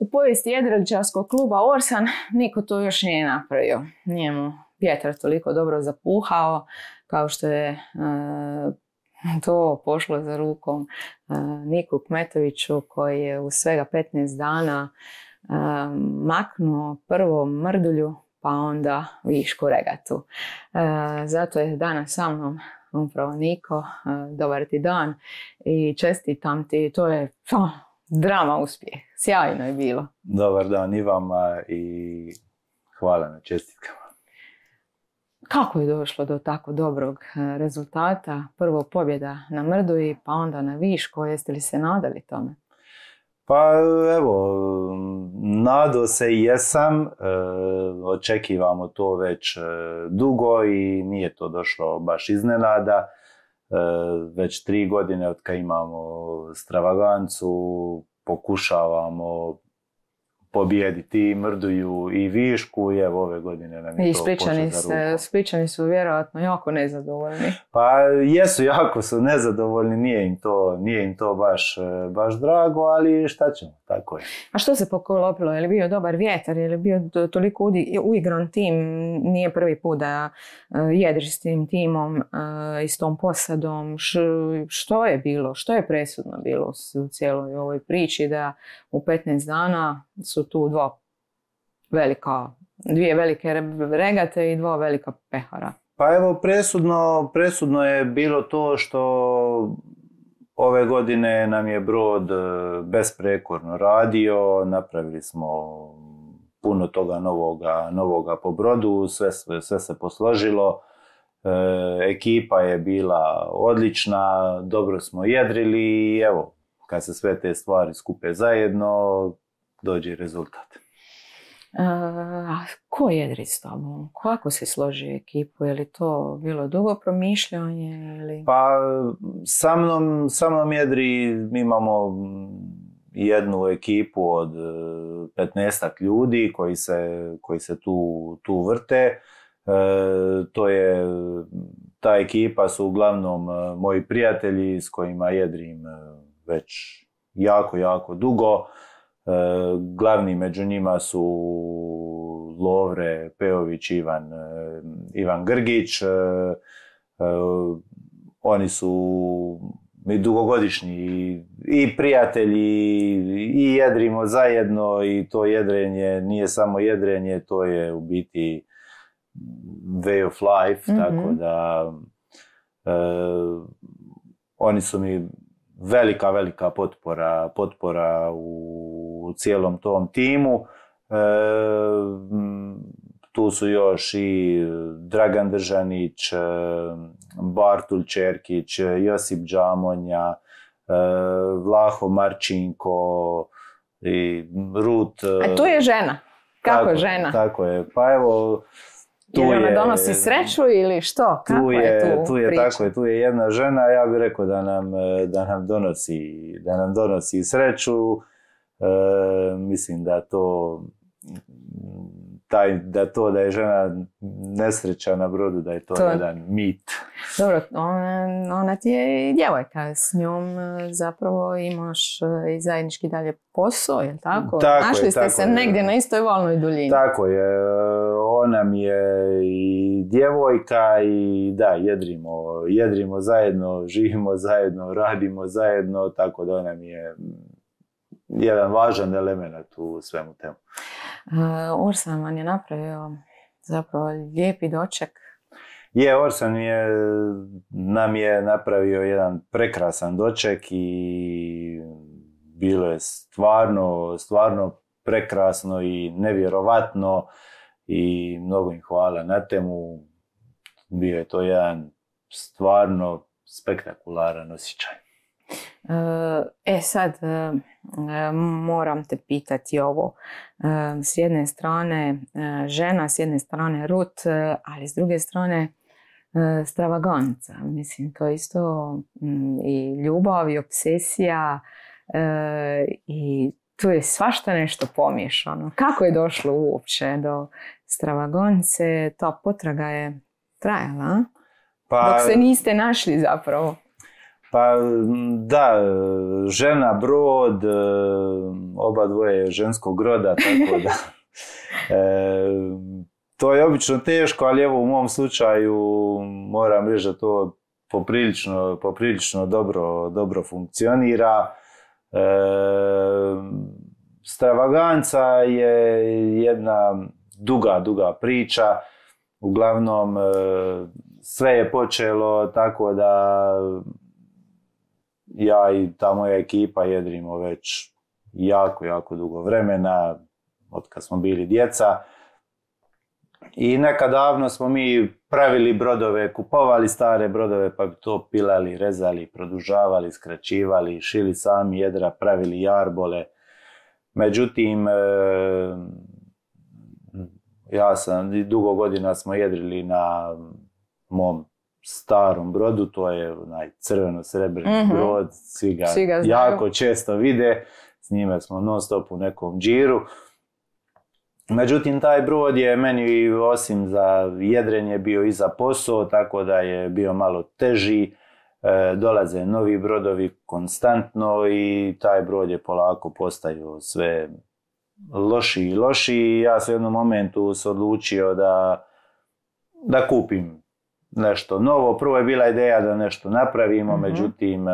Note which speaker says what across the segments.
Speaker 1: u povijesti jedriličarskog kluba Orsan niko to još nije napravio. Nije mu vjetar toliko dobro zapuhao kao što je to pošlo za rukom Niku Kmetoviću, koji je u svega 15 dana maknuo prvo Mrdulju pa onda Višku Regatu. Zato je danas sa mnom upravo Niko. Dobar ti dan i čestitam ti. To je drama uspjeh. Sjajno je bilo.
Speaker 2: Dobar dan i vama i hvala na čestitkama.
Speaker 1: Kako je došlo do tako dobrog rezultata? Prvo pobjeda na Mrdulji, pa onda na Višku. Jeste li se nadali tome?
Speaker 2: Pa evo, nadao se i jesam. Očekivamo to već dugo i nije to došlo baš iznenada. Već 3 godine od kad imamo Stravagancu pokušavamo pobijediti i Mrdulju i Višku i evo ove godine nam je to pošlo za rukom.
Speaker 1: Splićani su vjerojatno jako nezadovoljni.
Speaker 2: Pa jesu, jako su nezadovoljni, nije im to baš drago, ali šta ćemo, tako je.
Speaker 1: A što se pokolopilo? Je li bio dobar vjetar? Je li bio toliko uigran tim? Nije prvi put da jedriš s tim timom i s tom posadom. Što je bilo? Što je presudno bilo u cijeloj ovoj priči da u 15 dana su tu dvije velike regate i 2 velika pehara?
Speaker 2: Pa evo, presudno je bilo to što ove godine nam je brod besprekorno radio, napravili smo puno toga novoga po brodu, sve se posložilo, ekipa je bila odlična, dobro smo jedrili i evo, kad se sve te stvari skupe zajedno, dođe rezultat.
Speaker 1: Ko jedri s tobom? Kako se složi ekipu? Je li to bilo dugo promišljanje? Ili...
Speaker 2: Pa sa mnom jedri, mi imamo jednu ekipu od 15 ljudi koji se tu vrte. Ta ekipa su uglavnom moji prijatelji s kojima jedrim već jako dugo. Glavni među njima su Lovre Pejović, Ivan Grgić. Oni su mi dugogodišnji i prijatelji i jedrimo zajedno i to jedrenje nije samo jedrenje, to je u biti way of life, tako da oni su mi velika potpora u cijelom tom timu. Tu su još i Dragan Držanić, Bartul Čerkić, Josip Džamonja, Vlaho Marčinko i Rut.
Speaker 1: A tu je žena. Kako žena?
Speaker 2: Tako je. Pa evo,
Speaker 1: jer ona donosi sreću ili što? Kako je tu priča?
Speaker 2: Tako je, tu je jedna žena, ja bih rekao da nam donosi sreću. Mislim da je žena nesreća na brodu, da je to jedan mit.
Speaker 1: Dobro, ona ti je i djevojka, s njom zapravo imaš i zajednički dalje posao, je li tako? Našli ste se negdje na istoj valnoj duljini.
Speaker 2: Tako je, ona mi je i djevojka i da, jedrimo zajedno, živimo zajedno, radimo zajedno, tako da ona mi je jedan važan element u svemu temu.
Speaker 1: Orsan vam je napravio zapravo lijepi doček.
Speaker 2: Orsan nam je napravio jedan prekrasan doček i bilo je stvarno prekrasno i nevjerovatno i mnogo im hvala na temu. Bio je to jedan stvarno spektakularan osjećaj.
Speaker 1: Sad moram te pitati ovo. S jedne strane žena, s jedne strane Rut, ali s druge strane Stravaganca. Mislim, to isto i ljubav i obsesija i tu je svašta nešto pomiješano. Kako je došlo uopće do Stravagance? Ta potraga je trajala, dok se niste našli zapravo.
Speaker 2: Pa da, žena, brod, oba dvoje ženskog roda, tako da to je obično teško, ali evo u mom slučaju moram reći da to poprilično dobro funkcionira. Stravaganca je jedna duga priča. Uglavnom, sve je počelo tako da ja i ta moja ekipa jedrimo već jako dugo vremena, od kad smo bili djeca. I nekad davno smo mi pravili brodove, kupovali stare brodove pa bi to pilali, rezali, produžavali, skraćivali, šili sami jedra, pravili jarbole. Međutim, dugo godina smo jedrili na mom starom brodu, to je onaj crveno-srebrni brod, svi ga jako često vide, s njime smo non stop u nekom džiru. Međutim, taj brod je meni osim za jedrenje bio i za posao, tako da je bio malo teži, dolaze novi brodovi konstantno i taj brod je polako postaju sve lošiji i lošiji. Ja sam u jednom momentu se odlučio da kupim nešto novo. Prvo je bila ideja da nešto napravimo, međutim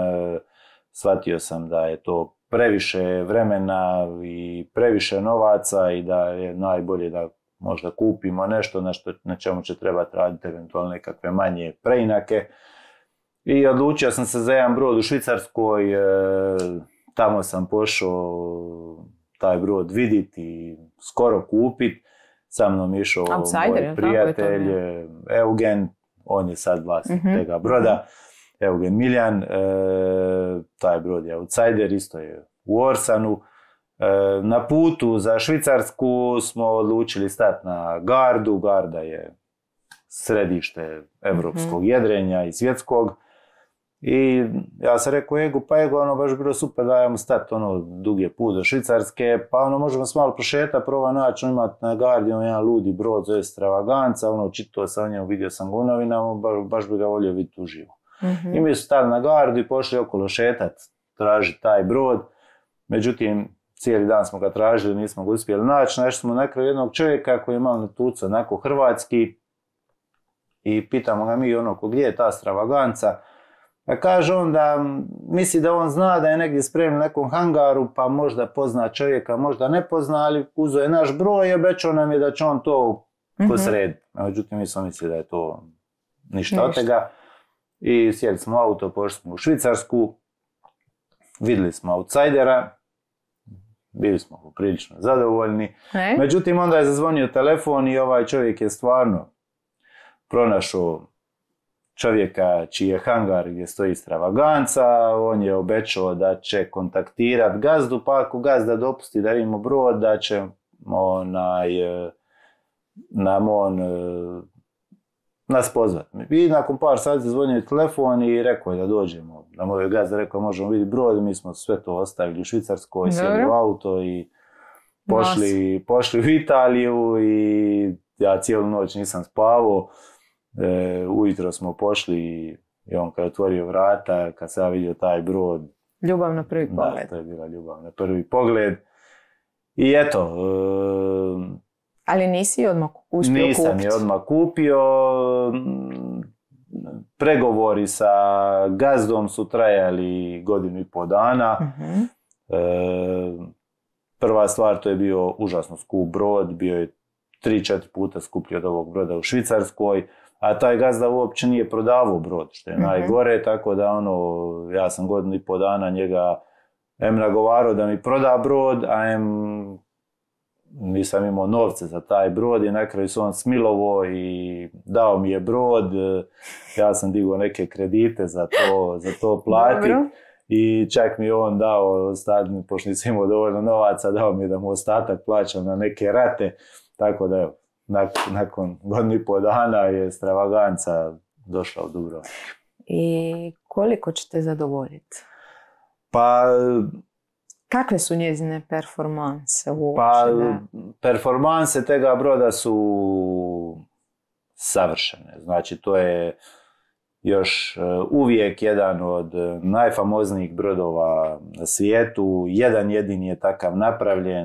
Speaker 2: shvatio sam da je to previše vremena i previše novaca i da je najbolje da možda kupimo nešto na čemu će trebati raditi eventualno nekakve manje preinake. I odlučio sam se za jedan brod u Švicarskoj, tamo sam pošao taj brod vidjeti i skoro kupiti. Sa mnom išao moj prijatelj Eugen, on je sad vlasnik tega broda. Eugen Miljan, taj brod je outsider, isto je u Orsanu. Na putu za Švicarsku smo odlučili stati na Gardu. Garda je središte evropskog jedrenja i svjetskog. I ja sam rekao Egu, baš bilo super da ajmo stati, dug je put do Švicarske, pa možemo se malo prošetati, prova naći, imati na Gardi jedan ludi brod, zove Stravaganca, čitao sam o njemu, vidio sam ga u novinama, baš bi ga volio vidjeti uživo. I mi su stali na Gardu i pošli okolo šetati, tražiti taj brod. Međutim, cijeli dan smo ga tražili, nismo ga uspjeli naći. Našli smo na kraju jednog čovjeka koji je malo natucao onako hrvatski i pitamo ga mi gdje je ta Stravaganca. Pa kaže on da misli da on zna da je negdje spremno u nekom hangaru, pa možda pozna čovjeka, možda ne pozna, ali uzeo je naš broj i obećao nam je da će on to posrediti. Međutim, mi smo mislili da je to ništa od toga. I sjeli smo u auto, pošli smo u Švicarsku, vidjeli smo outsidera, bili smo poprilično zadovoljni. Međutim, onda je zazvonio telefon i ovaj čovjek je stvarno pronašao čovjeka čiji je hangar gdje stoji Stravaganca. On je obećao da će kontaktirati gazdu, pa ako gazda dopusti da vidimo brod, da će nam on nas pozvati. I nakon par sati zazvonio telefon i rekao je da dođemo. Da moj gazda rekao možemo vidjeti brod, mi smo sve to ostavili u Švicarskoj, sjeli u auto i pošli u Italiju i ja cijelu noć nisam spavao. Ujutro smo pošli i on kad je otvorio vrata, kad sam vidio taj brod.
Speaker 1: Ljubav na prvi pogled.
Speaker 2: Da, to je bila ljubav na prvi pogled. I eto.
Speaker 1: Ali nisi odmah uspio kupiti?
Speaker 2: Nisam je odmah kupio. Pregovori sa gazdom su trajali 1,5 dana. Prva stvar, to je bio užasno skup brod, bio je 3-4 puta skuplji od ovog broda u Švicarskoj, a taj gazda uopće nije prodavao brod, što je najgore, tako da ja sam 1,5 dana njega nagovarao da mi proda brod, a nisam imao novce za taj brod i na kraju se on smilovao i dao mi je brod. Ja sam digao neke kredite za to platiti. I čak mi je on dao, pošto nisam imao dovoljno novaca, dao mi je da mu ostatak plaćam na neke rate. Tako da evo, nakon 1,5 dana je Stravaganca došla u Dubrovnik.
Speaker 1: I koliko ćete zadovoljiti?
Speaker 2: Pa...
Speaker 1: Kakve su njezine performanse uopće?
Speaker 2: Pa, performanse tega broda su savršene. Znači, to je još uvijek jedan od najfamoznijih brodova na svijetu. Jedan jedini je takav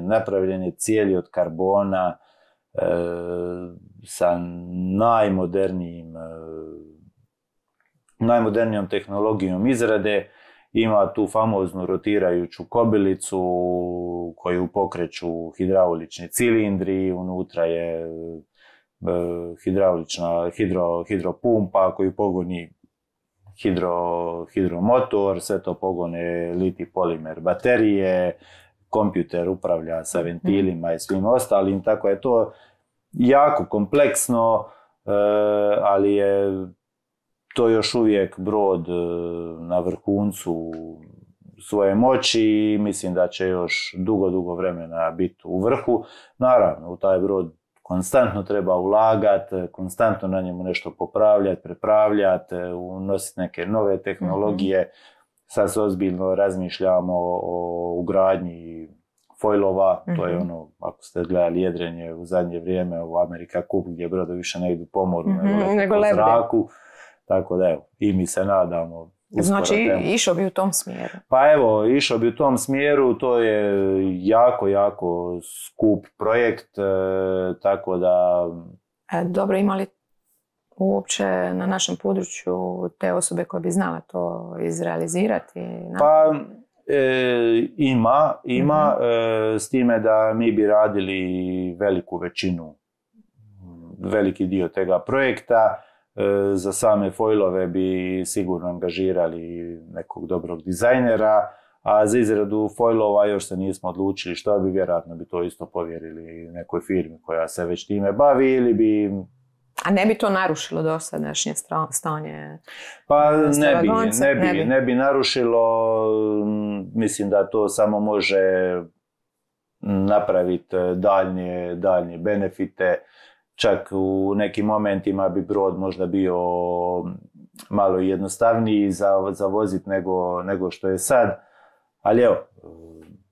Speaker 2: napravljen je cijeli od karbona, sa najmodernijom tehnologijom izrade. Ima tu famoznu rotirajuću kobilicu koju pokreću hidraulični cilindri, unutra je hidraulična hidropumpa koju pogoni hidromotor, sve to pogone liti polimer baterije, kompjuter upravlja sa ventilima i svim ostalim, tako je to jako kompleksno, ali je to još uvijek brod na vrhuncu svoje moći i mislim da će još dugo vremena biti u vrhu. Naravno, u taj brod konstantno treba ulagati, konstantno na njemu nešto popravljati, prepravljati, unositi neke nove tehnologije. Sad se ozbiljno razmišljamo o ugradnji foilova, to je ono, ako ste gledali jedrenje u zadnje vrijeme u Amerika Cup gdje brodovi više ne idu po moru, nego po zraku. Tako da evo, i mi se nadamo.
Speaker 1: Znači, išao bi u tom smjeru?
Speaker 2: Pa evo, išao bi u tom smjeru, to je jako skup projekt, tako da...
Speaker 1: Dobro, ima li uopće na našem području te osobe koje bi znala to izrealizirati?
Speaker 2: Pa ima, s time da mi bi radili veliki dio tega projekta. Za same foilove bi sigurno angažirali nekog dobrog dizajnera, a za izradu foilova još se nismo odlučili što bi, vjerojatno bi to isto povjerili nekoj firmi koja se već time bavi ili bi...
Speaker 1: A ne bi to narušilo dosadašnje stanje?
Speaker 2: Pa ne bi narušilo, mislim da to samo može napraviti daljnje benefite. Čak u nekim momentima bi brod možda bio malo jednostavniji za voziti nego što je sad. Ali evo,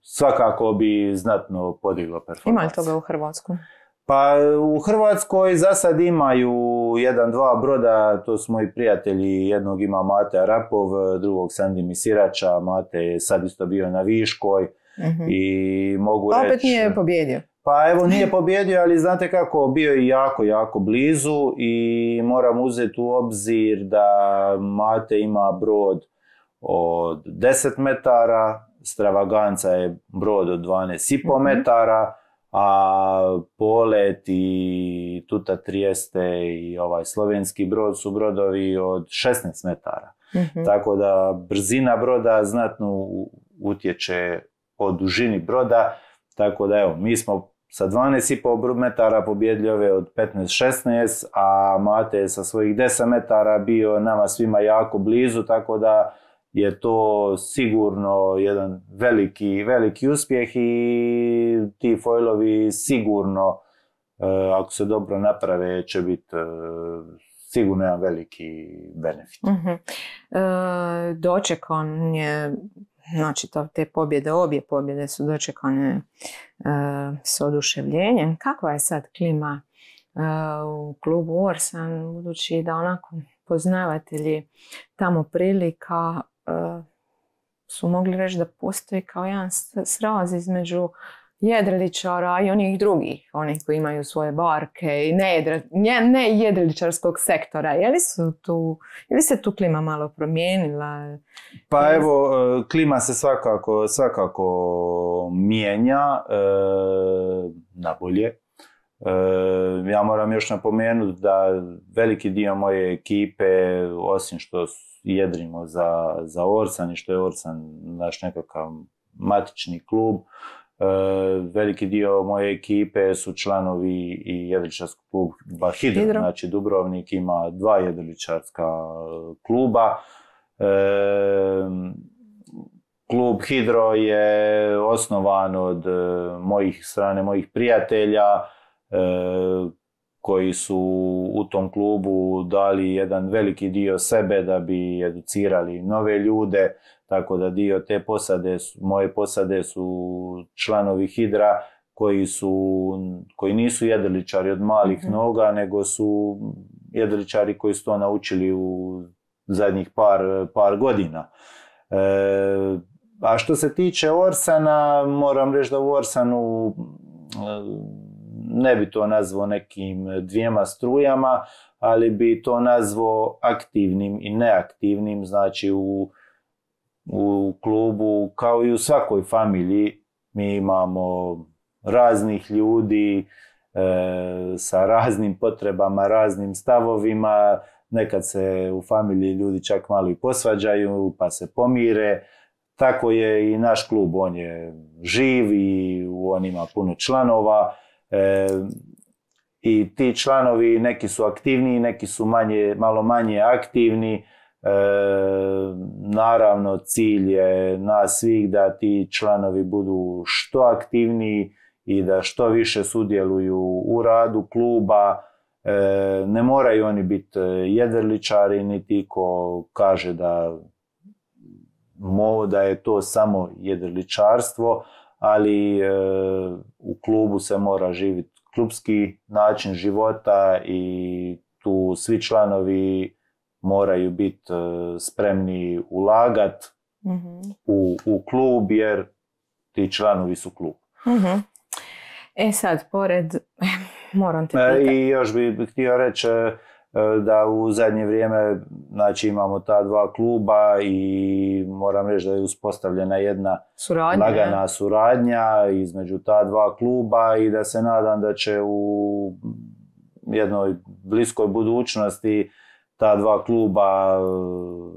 Speaker 2: svakako bi znatno podiglo performans.
Speaker 1: Ima li toga u Hrvatskoj?
Speaker 2: Pa u Hrvatskoj za sad imaju 1-2 broda, to su moji prijatelji, jednog ima Mate Arapov, drugog Sandi Misirača, Mate je sad isto bio na Viškoj i mogu reći...
Speaker 1: Opet nije pobjedio.
Speaker 2: Pa evo, nije pobjedio, ali znate kako, bio je jako blizu i moram uzeti u obzir da Mate ima brod od 10 metara, Stravaganca je brod od 12,5 metara, a Polet i Tuta Trieste i ovaj slovenski brod su brodovi od 16 metara. Tako da brzina broda znatno utječe o dužini broda, tako da evo, mi smo sa 12,5 metara pobjedili ove od 15-16, a Mate je sa svojih 10 metara bio nama svima jako blizu, tako da je to sigurno jedan veliki uspjeh i ti foilovi sigurno, ako se dobro naprave, će biti sigurno jedan veliki benefit.
Speaker 1: Dočekan je, znači te pobjede, obje pobjede su dočekane s oduševljenjem. Kakva je sad klima u klubu Orsan, budući da onako poznavatelji tamo prilika su mogli reći da postoji kao jedan sraz između jedriličara i onih drugih, onih koji imaju svoje barke i ne jedriličarskog sektora. Je li se tu klima malo promijenila?
Speaker 2: Pa evo, klima se svakako mijenja na bolje. Ja moram još napomenuti da veliki dio moje ekipe, osim što jedrimo za Orsan i što je Orsan naš nekakav matični klub, veliki dio moje ekipe su članovi i jedriličarskog kluba Hidro. Znači Dubrovnik ima 2 jedriličarska kluba. Klub Hidro je osnovan od strane mojih prijatelja koji su u tom klubu dali jedan veliki dio sebe da bi educirali nove ljude, tako da dio te moje posade su članovi Hidra koji nisu jedriličari od malih noga, nego su jedriličari koji su to naučili u zadnjih par godina. A što se tiče Orsana, moram reći da u Orsanu ne bi to nazvao nekim dvijema strujama, ali bi to nazvao aktivnim i neaktivnim. Znači u klubu, kao i u svakoj familiji, mi imamo raznih ljudi sa raznim potrebama, raznim stavovima. Nekad se u familiji ljudi čak malo i posvađaju pa se pomire. Tako je i naš klub, on je živ i on ima puno članova. I ti članovi, neki su aktivniji, neki su malo manje aktivni. Naravno, cilj je nas svih da ti članovi budu što aktivniji i da što više sudjeluju u radu kluba. Ne moraju oni biti jedriličari, niti ko kaže da je to samo jedriličarstvo, ali u klubu se mora živjeti klubski način života i tu svi članovi moraju biti spremni ulagati u klub, jer ti članovi su klub.
Speaker 1: Sad, moram te pitati.
Speaker 2: I još bih htio reći da u zadnje vrijeme, znači, imamo ta dva kluba i moram reći da je uspostavljena jedna lagana suradnja između ta dva kluba i da se nadam da će u jednoj bliskoj budućnosti ta dva kluba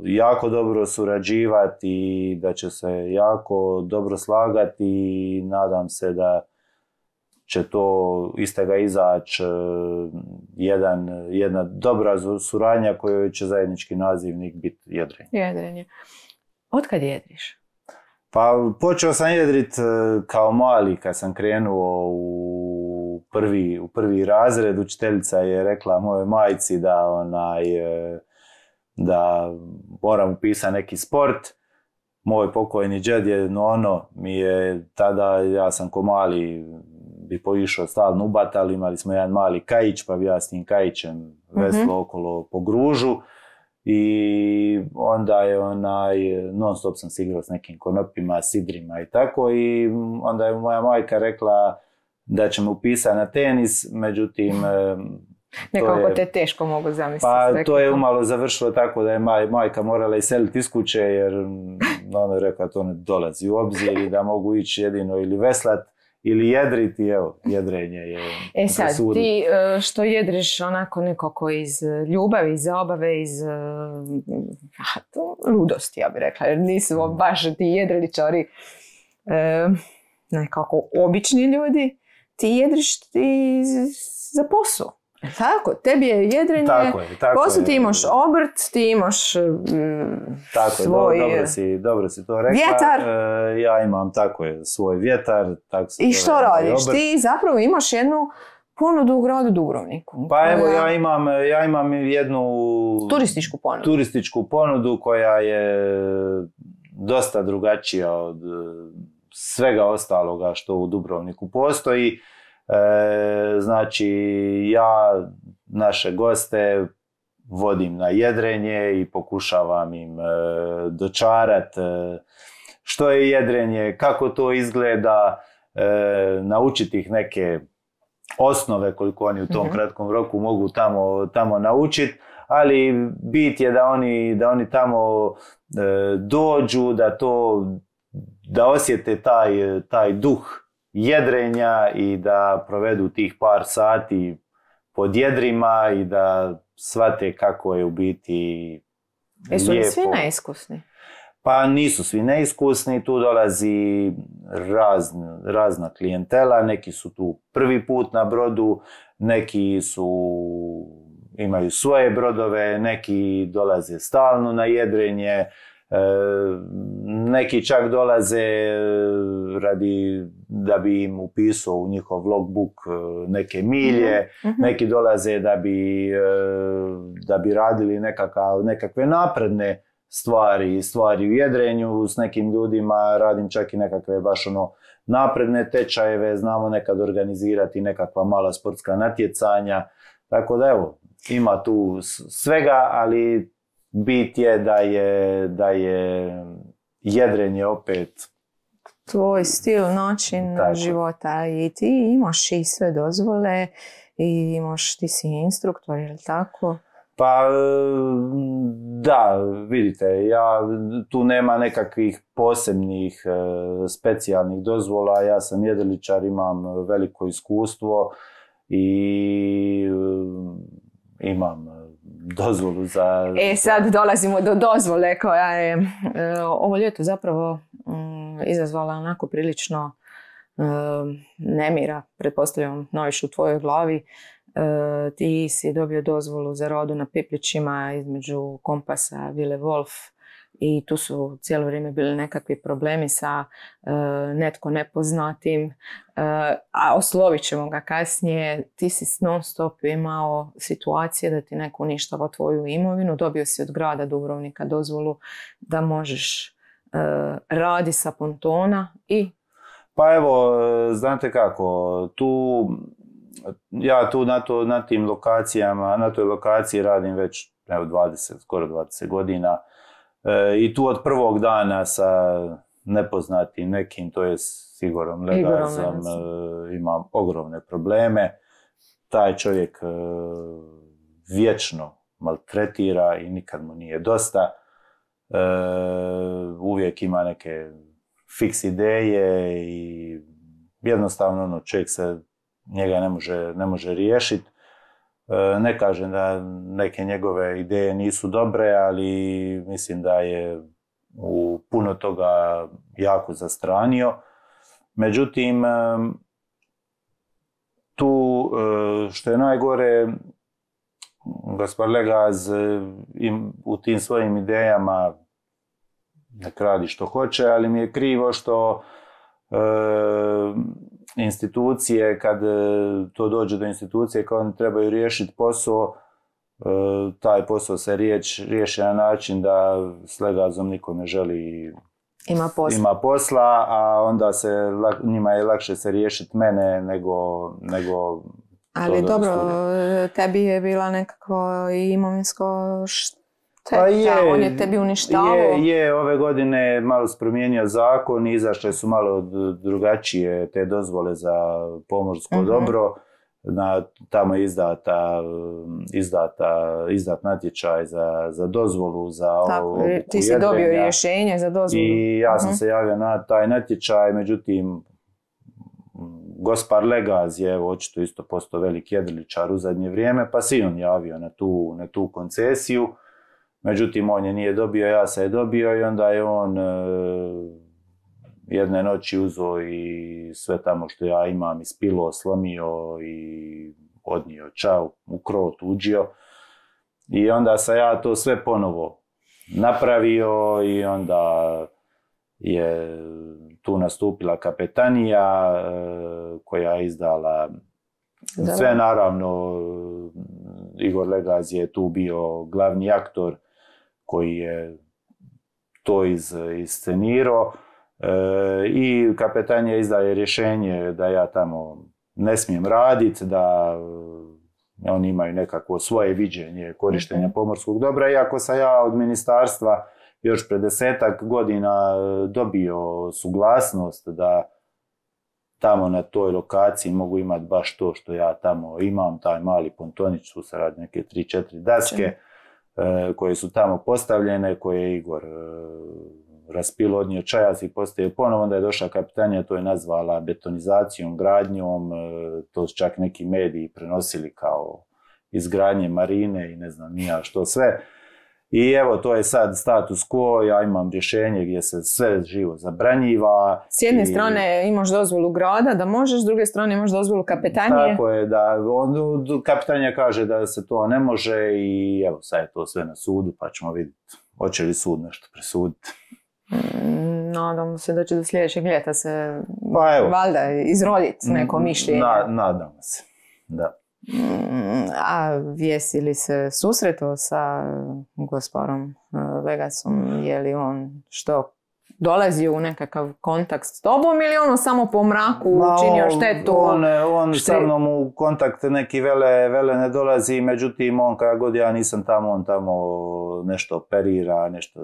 Speaker 2: jako dobro surađivati i da će se jako dobro slagati i nadam se da će to iz toga izaći jedna dobra suradnja kojoj će zajednički nazivnik biti jedrenje.
Speaker 1: Jedrenje. Otkad jedriš?
Speaker 2: Pa počeo sam jedrit kao mali kad sam krenuo u prvi razred. Učiteljica je rekla mojoj majci da moram upisati neki sport. Moj pokojni džed je mi je tada, ja sam ko mali bi poišao stalno u batal, imali smo jedan mali kajić, pa bi ja s tim kajićem veslo okolo po gružu i onda je non stop sam se igrao s nekim konopima, sidrima i tako, i onda je moja majka rekla da će me upisati na tenis, međutim
Speaker 1: nekako te teško mogu zamisliti.
Speaker 2: Pa to je umalo završilo tako da je majka morala iseliti iz kuće, jer ona je rekla to ne dolazi u obzir i da mogu ići jedino ili veslat ili jedriti, evo, jedrenje je
Speaker 1: sad, presudno. Ti što jedriš onako nekako iz ljubavi, iz zabave, iz ludosti, ja bih rekla, jer nisu baš ti jedriličari nekako obični ljudi, ti jedriš za posao. Tako, tebi je jedrenje, posao, ti imaš obrt, ti imaš svoj
Speaker 2: dobro si to rekla.
Speaker 1: Vjetar.
Speaker 2: Ja imam svoj vjetar.
Speaker 1: I što radiš? Ti zapravo imaš jednu ponudu u gradu Dubrovniku.
Speaker 2: Pa evo, ja imam jednu
Speaker 1: turističku ponudu
Speaker 2: koja je dosta drugačija od svega ostaloga što u Dubrovniku postoji. Znači, ja naše goste vodim na jedrenje i pokušavam im dočarati što je jedrenje, kako to izgleda, naučiti ih neke osnove koliko oni u tom kratkom roku mogu tamo naučiti, ali bit je da oni tamo dođu, da osjete taj duh jedrenja i da provedu tih par sati pod jedrima i da shvate kako je u biti lijepo.
Speaker 1: Jesu li svi neiskusni?
Speaker 2: Pa nisu svi neiskusni, tu dolazi razna klijentela, neki su tu prvi put na brodu, neki imaju svoje brodove, neki dolaze stalno na jedrenje, neki čak dolaze da bi im upisao u njihov logbook neke milje, neki dolaze da bi radili nekakve napredne stvari u jedrenju. S nekim ljudima radim čak i nekakve baš napredne tečajeve, znamo nekad organizirati nekakva mala sportska natjecanja, tako da evo, ima tu svega, ali bit je da je jedrenje opet
Speaker 1: tvoj stil, način života i ti imaš i sve dozvole i ti si instruktor, je li tako?
Speaker 2: Pa da, vidite, tu nema nekakvih posebnih specijalnih dozvola, ja sam jedriličar, imam veliko iskustvo i imam dozvolu za...
Speaker 1: Sad dolazimo do dozvole koja je ovo ljeto zapravo izazvala onako prilično nemira, pretpostavljam najviše u tvojoj glavi. Ti si dobio dozvolu za rodu na Piplićima između Kompasa, Vile Wolf i tu su cijelo vrijeme bili nekakvi problemi sa netko nepoznatim, a oslovit ćemo ga kasnije. Ti si non stop imao situacije da ti neko uništava tvoju imovinu, dobio si od grada Dubrovnika dozvolu da možeš radi sa pontona i...
Speaker 2: Pa evo, znate kako, ja tu na tim lokacijama, na toj lokaciji radim već skoro 20 godina i tu od prvog dana sa nepoznatim nekim, to je Igorom Legazom, imam ogromne probleme. Taj čovjek vječno maltretira i nikad mu nije dosta. Uvijek ima neke fiks ideje i jednostavno čovjek se njega ne može riješiti. Ne kažem da neke njegove ideje nisu dobre, ali mislim da je u puno toga jako zastranio. Međutim, tu što je najgore, gospod Legaz u tim svojim idejama nek radi što hoće, ali mi je krivo što institucije, kad to dođe do institucije, kad oni trebaju riješiti posao, taj posao se riješi na način da s Legazom niko ne želi ima posla, a onda njima je lakše se riješiti mene nego
Speaker 1: ali dobro, tebi je bila nekako imovinsko
Speaker 2: pa
Speaker 1: on je tebi uništavao.
Speaker 2: Ove godine malo se promijenio zakon, izašle su malo drugačije te dozvole za pomorsko dobro. Tamo je izdat natječaj za dozvolu za ovo.
Speaker 1: Ti si dobio rješenje za dozvolu.
Speaker 2: I ja sam se javio na taj natječaj, međutim gospar Legaz je očito isto postao veliki jedriličar u zadnje vrijeme, pa si on javio na tu koncesiju. Međutim, on je nije dobio, ja sam je dobio i onda je on jedne noći uzeo i sve tamo što ja imam ispilo, slomio i odnio čao, u krov tuđio. I onda sam ja to sve ponovo napravio i onda je tu nastupila kapetanija koja je izdala sve, naravno Igor Legaz je tu bio glavni aktor koji je to iscenirao i kapetanija izdaje rješenje da ja tamo ne smijem raditi, da oni imaju nekako svoje viđenje korištenja pomorskog dobra, iako sam ja od ministarstva još pred 10-ak godina dobio suglasnost da tamo na toj lokaciji mogu imati baš to što ja tamo imam, taj mali pontonić, tu se radi neke 3-4 daske koje su tamo postavljene, koje je Igor raspilo, odnio čajas i postavio ponovo, onda je došla kapitanija, to je nazvala betonizacijom, gradnjom, to su čak neki mediji prenosili kao izgradnje marine i ne znam nija što sve. I evo, to je sad status quo, ja imam rješenje gdje se sve živo zabranjiva.
Speaker 1: S jedne strane imaš dozvolu grada da možeš, s druge strane imaš dozvolu kapetanije.
Speaker 2: Tako je, da kapetanija kaže da se to ne može i evo, sad je to sve na sudu, pa ćemo vidjeti hoće li sud nešto presuditi.
Speaker 1: Nadamo se da će do sljedećeg ljeta se
Speaker 2: valjda
Speaker 1: izroditi neko mišljenje.
Speaker 2: Nadamo se, da.
Speaker 1: A jesi li se susretao sa gospodarom Legazom? Je li on što dolazio u nekakav kontakt s tobom ili ono samo po mraku učinio štetu?
Speaker 2: On sa mnom u kontakt neki vele ne dolazi, međutim on kada god ja nisam tamo, on tamo nešto operira, nešto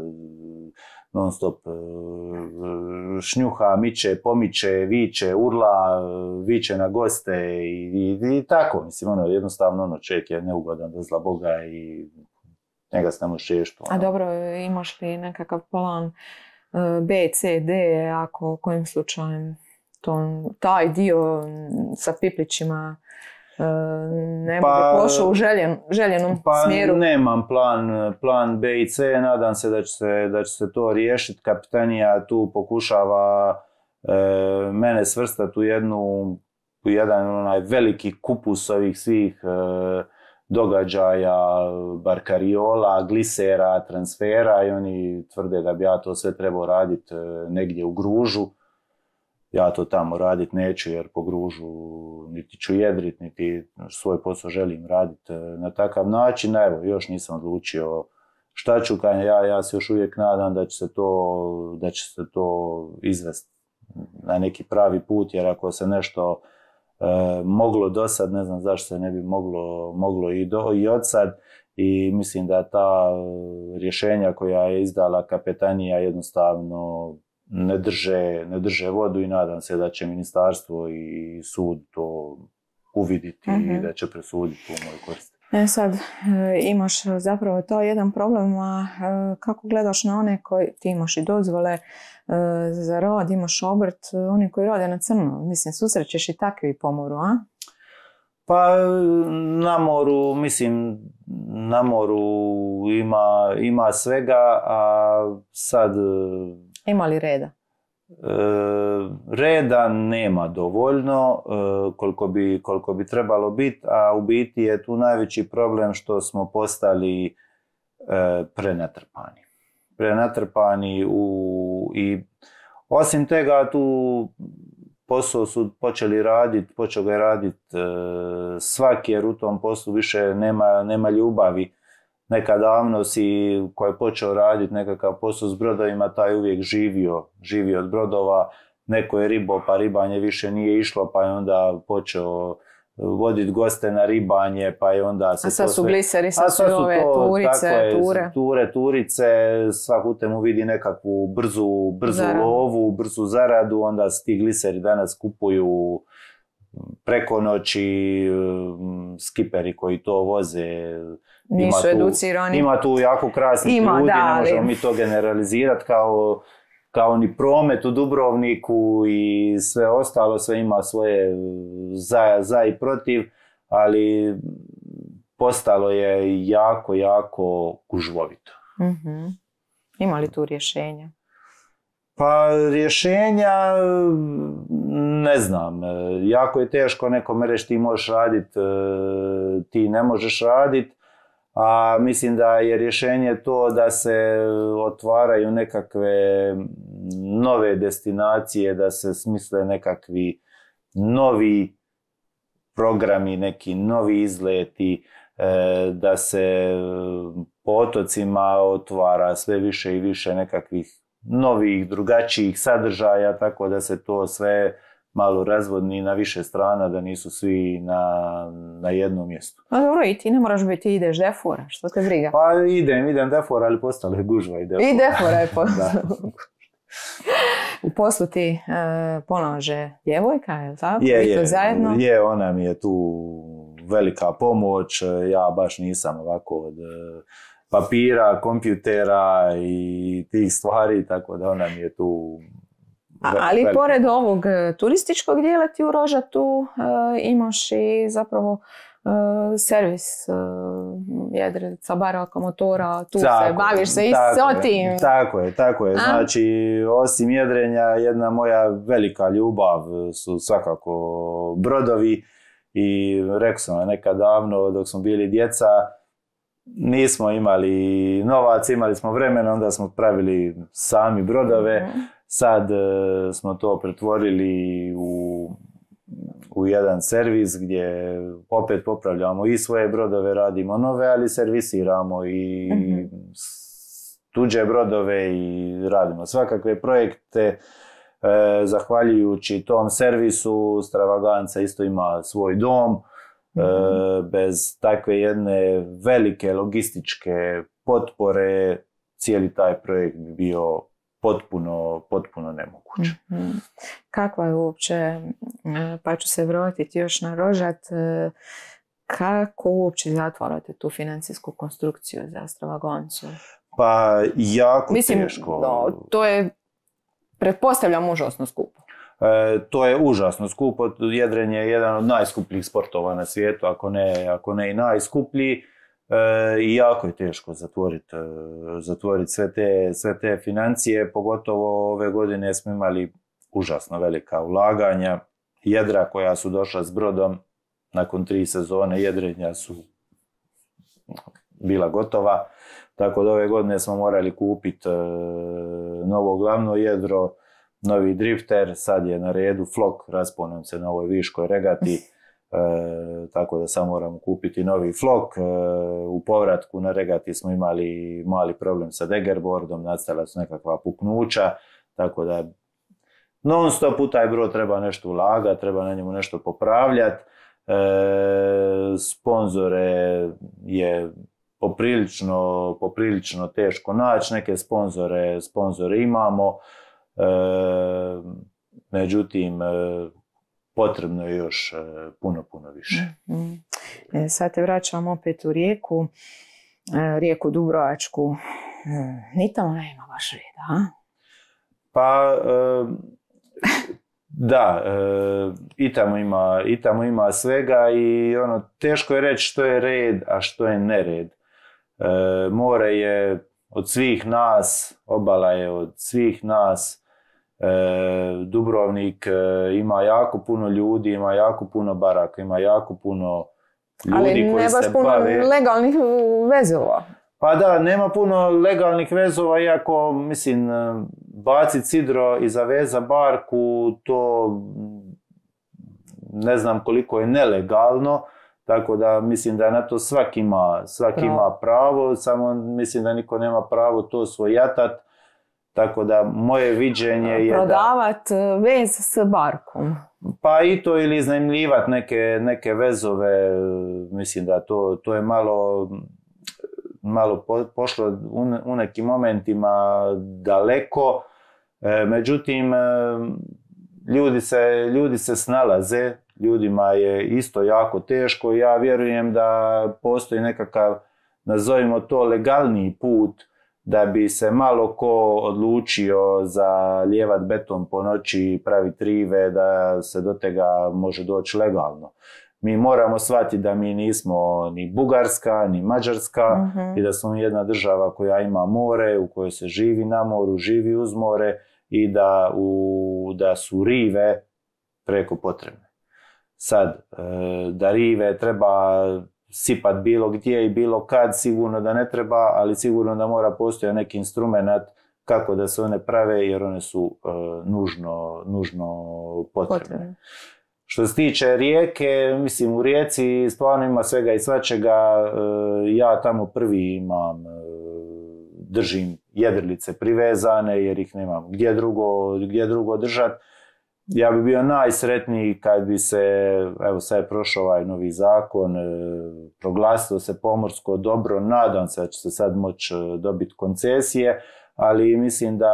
Speaker 2: non stop šnjuha, miče, pomiče, viče, urla, viče na goste i tako, mislim, jednostavno čovjek je neugodan do zla Boga i njega se ne može riješiti.
Speaker 1: A dobro, imaš li nekakav plan B, C, D, ako kojim slučajem taj dio sa piplićima ne bude pošao u željenom smjeru?
Speaker 2: Nemam plan B i C, nadam se da će se to riješiti. Kapitanija tu pokušava mene svrstati u jedan onaj veliki kupus ovih svih događaja, barkariola, glisera, transfera i oni tvrde da bi ja to sve trebao raditi negdje u Gružu. Ja to tamo raditi neću jer po Gružu niti ću jedrit, niti svoj posao želim raditi na takav način. Evo, još nisam odlučio šta ću, ja se još uvijek nadam da će se to izvesti na neki pravi put, jer ako se nešto moglo do sad, ne znam zašto se ne bi moglo i od sad, i mislim da ta rješenja koja je izdala kapetanija jednostavno ne drže vodu i nadam se da će ministarstvo i sud to uviditi i da će presuditi u moj korist.
Speaker 1: Sad imaš zapravo to jedan problem, a kako gledaš na one koji, ti imaš i dozvole za rad, imaš obrt, oni koji rade na crno, mislim, susrećeš i takvi po moru, a?
Speaker 2: Pa na moru ima svega, a sad...
Speaker 1: Ima li reda?
Speaker 2: Reda nema dovoljno koliko bi trebalo biti, a u biti je tu najveći problem što smo postali prenatrpani i osim toga tu posao su počeo ga je raditi svaki, jer u tom poslu više nema ljubavi. Nekad davno ko je počeo raditi nekakav posao s brodovima, taj uvijek živio od brodova. Neko je ribao, pa ribanje više nije išlo, pa je onda počeo voditi goste na ribanje, pa je onda se...
Speaker 1: A sad su gliseri, sad su ove
Speaker 2: turice, svak u temu vidi nekakvu brzu lovu, brzu zaradu, onda se ti gliseri danas kupuju preko noći, skiperi koji to voze.
Speaker 1: Nisu educirani.
Speaker 2: Ima tu jako krasnih ljudi, ne možemo mi to generalizirati kao ni promet u Dubrovniku i sve ostalo, sve ima svoje za i protiv, ali postalo je jako gužvovito.
Speaker 1: Ima li tu rješenja?
Speaker 2: Pa rješenja, ne znam, jako je teško nekome reći ti možeš raditi, ti ne možeš raditi, a mislim da je rješenje to da se otvaraju nekakve nove destinacije, da se smisle nekakvi novi programi, neki novi izleti, da se po otocima otvara sve više i više nekakvih novih, drugačijih sadržaja, tako da se to sve malo razvodni na više strana, da nisu svi na jednom mjestu.
Speaker 1: Pa dobro, i ti ne moraš biti, ideš defora, što te briga?
Speaker 2: Pa idem defora, ali postala je gužva i defora.
Speaker 1: I defora je postala. U poslu ti pomaže djevojka, je li tako?
Speaker 2: Je, ona mi je tu velika pomoć, ja baš nisam ovako od papira, kompjutera i tih stvari, tako da ona mi je tu...
Speaker 1: Ali pored ovog turističkog dijela ti u Rožatu imaš i zapravo servis jedrica, baraka, motora, tu se baviš se i s tim.
Speaker 2: Tako je. Znači, osim jedrenja, jedna moja velika ljubav su svakako brodovi i rekao sam nekad davno dok smo bili djeca, nismo imali novac, imali smo vremena, onda smo pravili sami brodove. Sad smo to pretvorili u jedan servis gdje opet popravljamo i svoje brodove, radimo nove, ali servisiramo i tuđe brodove i radimo svakakve projekte. Zahvaljujući tom servisu, Stravaganca isto ima svoj dom. Bez takve jedne velike logističke potpore cijeli taj projekt bi bio potpuno nemoguć.
Speaker 1: Kakva je uopće, pa ću se vratiti još na Rožat, kako uopće zatvarate tu financijsku konstrukciju za Stravagancu?
Speaker 2: Pa jako teško.
Speaker 1: No, to je, pretpostavljam, užasno skupo.
Speaker 2: To je užasno skupo. Jedrenje je jedan od najskupljih sportova na svijetu, ako ne i najskuplji. I jako je teško zatvoriti sve te financije, pogotovo ove godine smo imali užasno velika ulaganja. Jedra koja su došla s brodom nakon 3 sezone jedrenja su bila gotova, tako da ove godine smo morali kupiti novo glavno jedro, novi drifter, sad je na redu flok, raspao nam se na ovoj viškoj regati. Tako da sad moramo kupiti novi flok. U povratku na regati smo imali mali problem sa daggerboardom, nastala su nekakva puknuća, tako da non stop u taj brod treba nešto ulagati, treba na njemu nešto popravljati. Sponzore je poprilično teško naći, neke sponzore imamo, međutim potrebno je još puno više.
Speaker 1: Sad te vraćam opet u rijeku Dubrovačku. Ni tamo nema baš reda, a?
Speaker 2: Pa da, i tamo ima svega i teško je reći što je red, a što je nered. More je od svih nas, obala je od svih nas. Dubrovnik ima jako puno ljudi, ima jako puno baraka, ima jako puno ljudi koji se bave.
Speaker 1: Ali ne baš puno legalnih vezova.
Speaker 2: Pa da, nema puno legalnih vezova, iako, mislim, baciti sidro i zaveza barku, to ne znam koliko je nelegalno, tako da mislim da na to svaki ima pravo, samo mislim da niko nema pravo to svojatat. Tako da moje viđenje je
Speaker 1: prodavat vez s barkom.
Speaker 2: Pa i to, ili iznajmljivati neke vezove, mislim da to je malo pošlo u nekim momentima daleko. Međutim, ljudi se snalaze, ljudima je isto jako teško. Ja vjerujem da postoji nekakav, nazovimo to, legalniji put da bi se malo ko odlučio za lijevat beton po noći i praviti rive, da se do tega može doći legalno. Mi moramo shvatiti da mi nismo ni Bugarska, ni Mađarska i da smo jedna država koja ima more, u kojoj se živi na moru, živi uz more i da su rive preko potrebne. Sad, da rive treba sipat bilo gdje i bilo kad, sigurno da ne treba, ali sigurno da mora postojati neki instrument kako da se one prave, jer one su nužno potrebne. Što se tiče rijeke, mislim, u rijeci stvarno ima svega i svačega. Ja tamo prvi držim jedrilice privezane jer ih nemam gdje drugo držati. Ja bi bio najsretniji kad bi se, evo sad je prošao ovaj novi zakon, proglasilo se pomorsko dobro, nadam se da će se sad moći dobiti koncesije, ali mislim da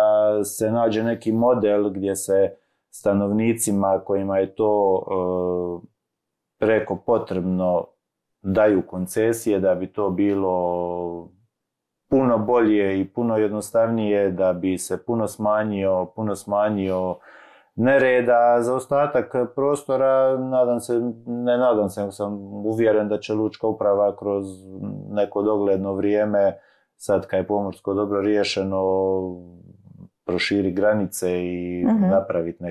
Speaker 2: se nađe neki model gdje se stanovnicima kojima je to preko potrebno daju koncesije, da bi to bilo puno bolje i puno jednostavnije, da bi se puno smanjio nereda. Za ostatak prostora nadam se, sam uvjeren da će lučka uprava kroz neko dogledno vrijeme, sad kad je pomorsko dobro riješeno, proširi granice i napraviti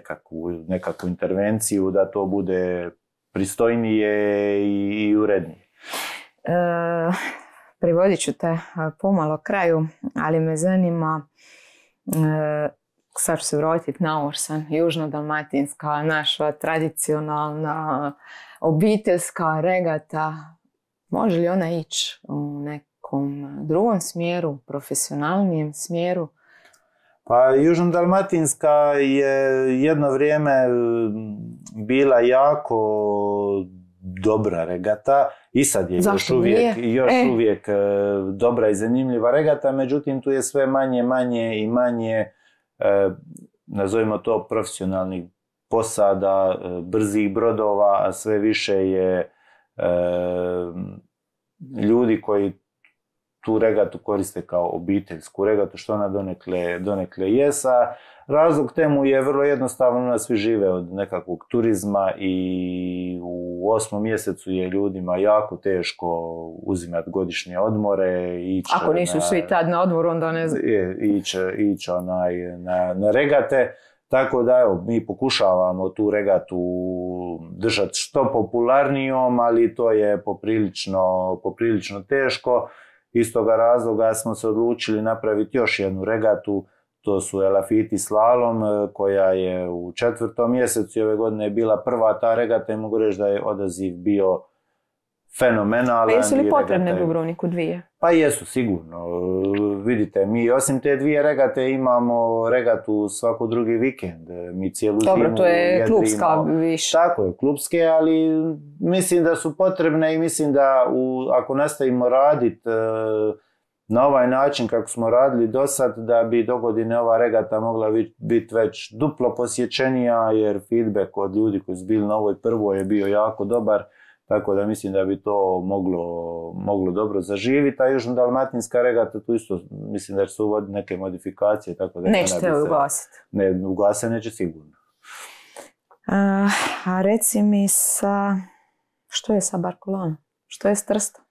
Speaker 2: nekakvu intervenciju da to bude pristojnije i urednije.
Speaker 1: Privodit ću te pomalo kraju, ali me zanima, sad ću se vratiti na Orsan, južno-dalmatinska, naša tradicionalna obiteljska regata. Može li ona ići u nekom drugom smjeru, profesionalnijem smjeru?
Speaker 2: Pa Južno-dalmatinska je jedno vrijeme bila jako dobra regata i sad je još uvijek dobra i zanimljiva regata, međutim tu je sve manje i manje, nazovimo to, profesionalnih posada, brzih brodova, a sve više je ljudi koji tu regatu koriste kao obiteljsku regatu, što ona donekle jesa. Razlog temu je vrlo jednostavno, svi žive od nekakvog turizma i u 8. mjesecu je ljudima jako teško uzimati godišnje odmore.
Speaker 1: Ako nisu svi tad na odmoru, onda ne znam.
Speaker 2: Ići na regate. Tako da evo, mi pokušavamo tu regatu držati što popularnijom, ali to je poprilično teško. Iz toga razloga smo se odlučili napraviti još jednu regatu, to su Elafiti slalom, koja je u 4. mjesecu ove godine bila prva ta regata i mogu reći da je odaziv bio fenomenalan.
Speaker 1: Pa jesu li potrebne Dubrovniku dvije?
Speaker 2: Pa jesu, sigurno. Vidite, mi osim te dvije regate imamo regatu svako drugi vikend. Mi cijelu zimu
Speaker 1: dobro, to je klubska više.
Speaker 2: Tako je, klubske, ali mislim da su potrebne i mislim da ako nastavimo raditi na ovaj način kako smo radili do sad, da bi dogodine ova regata mogla biti već duplo posjećenija, jer feedback od ljudi koji su bili na ovoj prvoj je bio jako dobar. Tako da mislim da bi to moglo dobro zaživiti, a Južno-dalmatinska regata tu isto mislim da će se uvoditi neke modifikacije. Tako da
Speaker 1: nećete ugasiti?
Speaker 2: Ne, ugase neće sigurno.
Speaker 1: A reci mi što je sa Barkolanom? Što je s Trstom?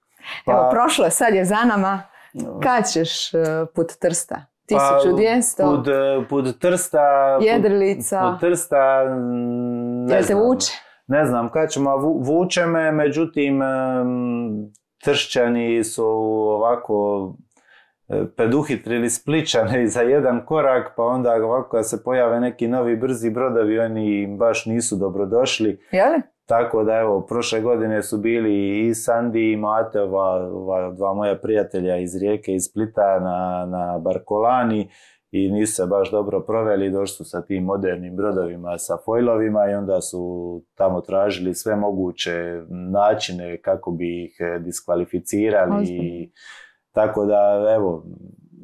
Speaker 1: Evo, prošlo je, sad je za nama. Kad ćeš put Trsta? 1200?
Speaker 2: Put Trsta...
Speaker 1: Jedrilica?
Speaker 2: Put Trsta...
Speaker 1: Jel te vuče?
Speaker 2: Ne znam kad ćemo, vuče me, međutim Tršćani su ovako preduhitrili Splićane za jedan korak, pa onda ovako kad se pojave neki novi brzi brodovi, oni baš nisu dobrodošli.
Speaker 1: Jeli?
Speaker 2: Tako da evo, prošle godine su bili i Sandi i Mate, ova dva moja prijatelja iz Rijeke i Splita na Barkolani, i nisu se baš dobro proveli, došli su sa tim modernim brodovima, sa fojlovima, i onda su tamo tražili sve moguće načine kako bi ih diskvalificirali. Tako da, evo,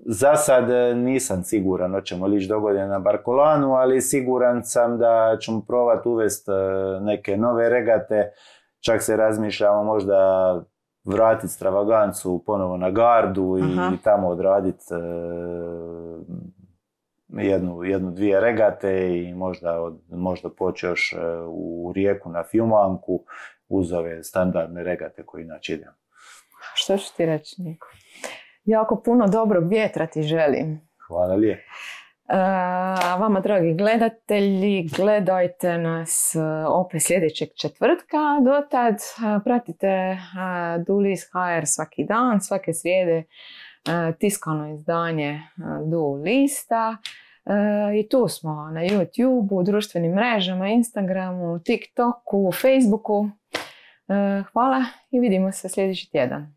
Speaker 2: za sad nisam siguran hoćemo li ići dogodine na Barkolanu, ali siguran sam da ćemo probati uvesti neke nove regate. Čak se razmišljamo možda vratiti Stravagancu ponovo na Gardu i tamo odraditi dvije regate i možda poći još u Rijeku na Fjumanku uz ove standardne regate koje inače idemo.
Speaker 1: Što ću ti reći, Niko? Jako puno dobrog vjetra ti želim.
Speaker 2: Hvala lijepo.
Speaker 1: Vama, dragi gledatelji, gledajte nas opet sljedećeg četvrtka. Dotad pratite Du-List.hr svaki dan, svake srijede tiskano izdanje Du-Lista. I tu smo na YouTubeu, društvenim mrežama, Instagramu, TikToku, Facebooku. Hvala i vidimo se sljedeći tjedan.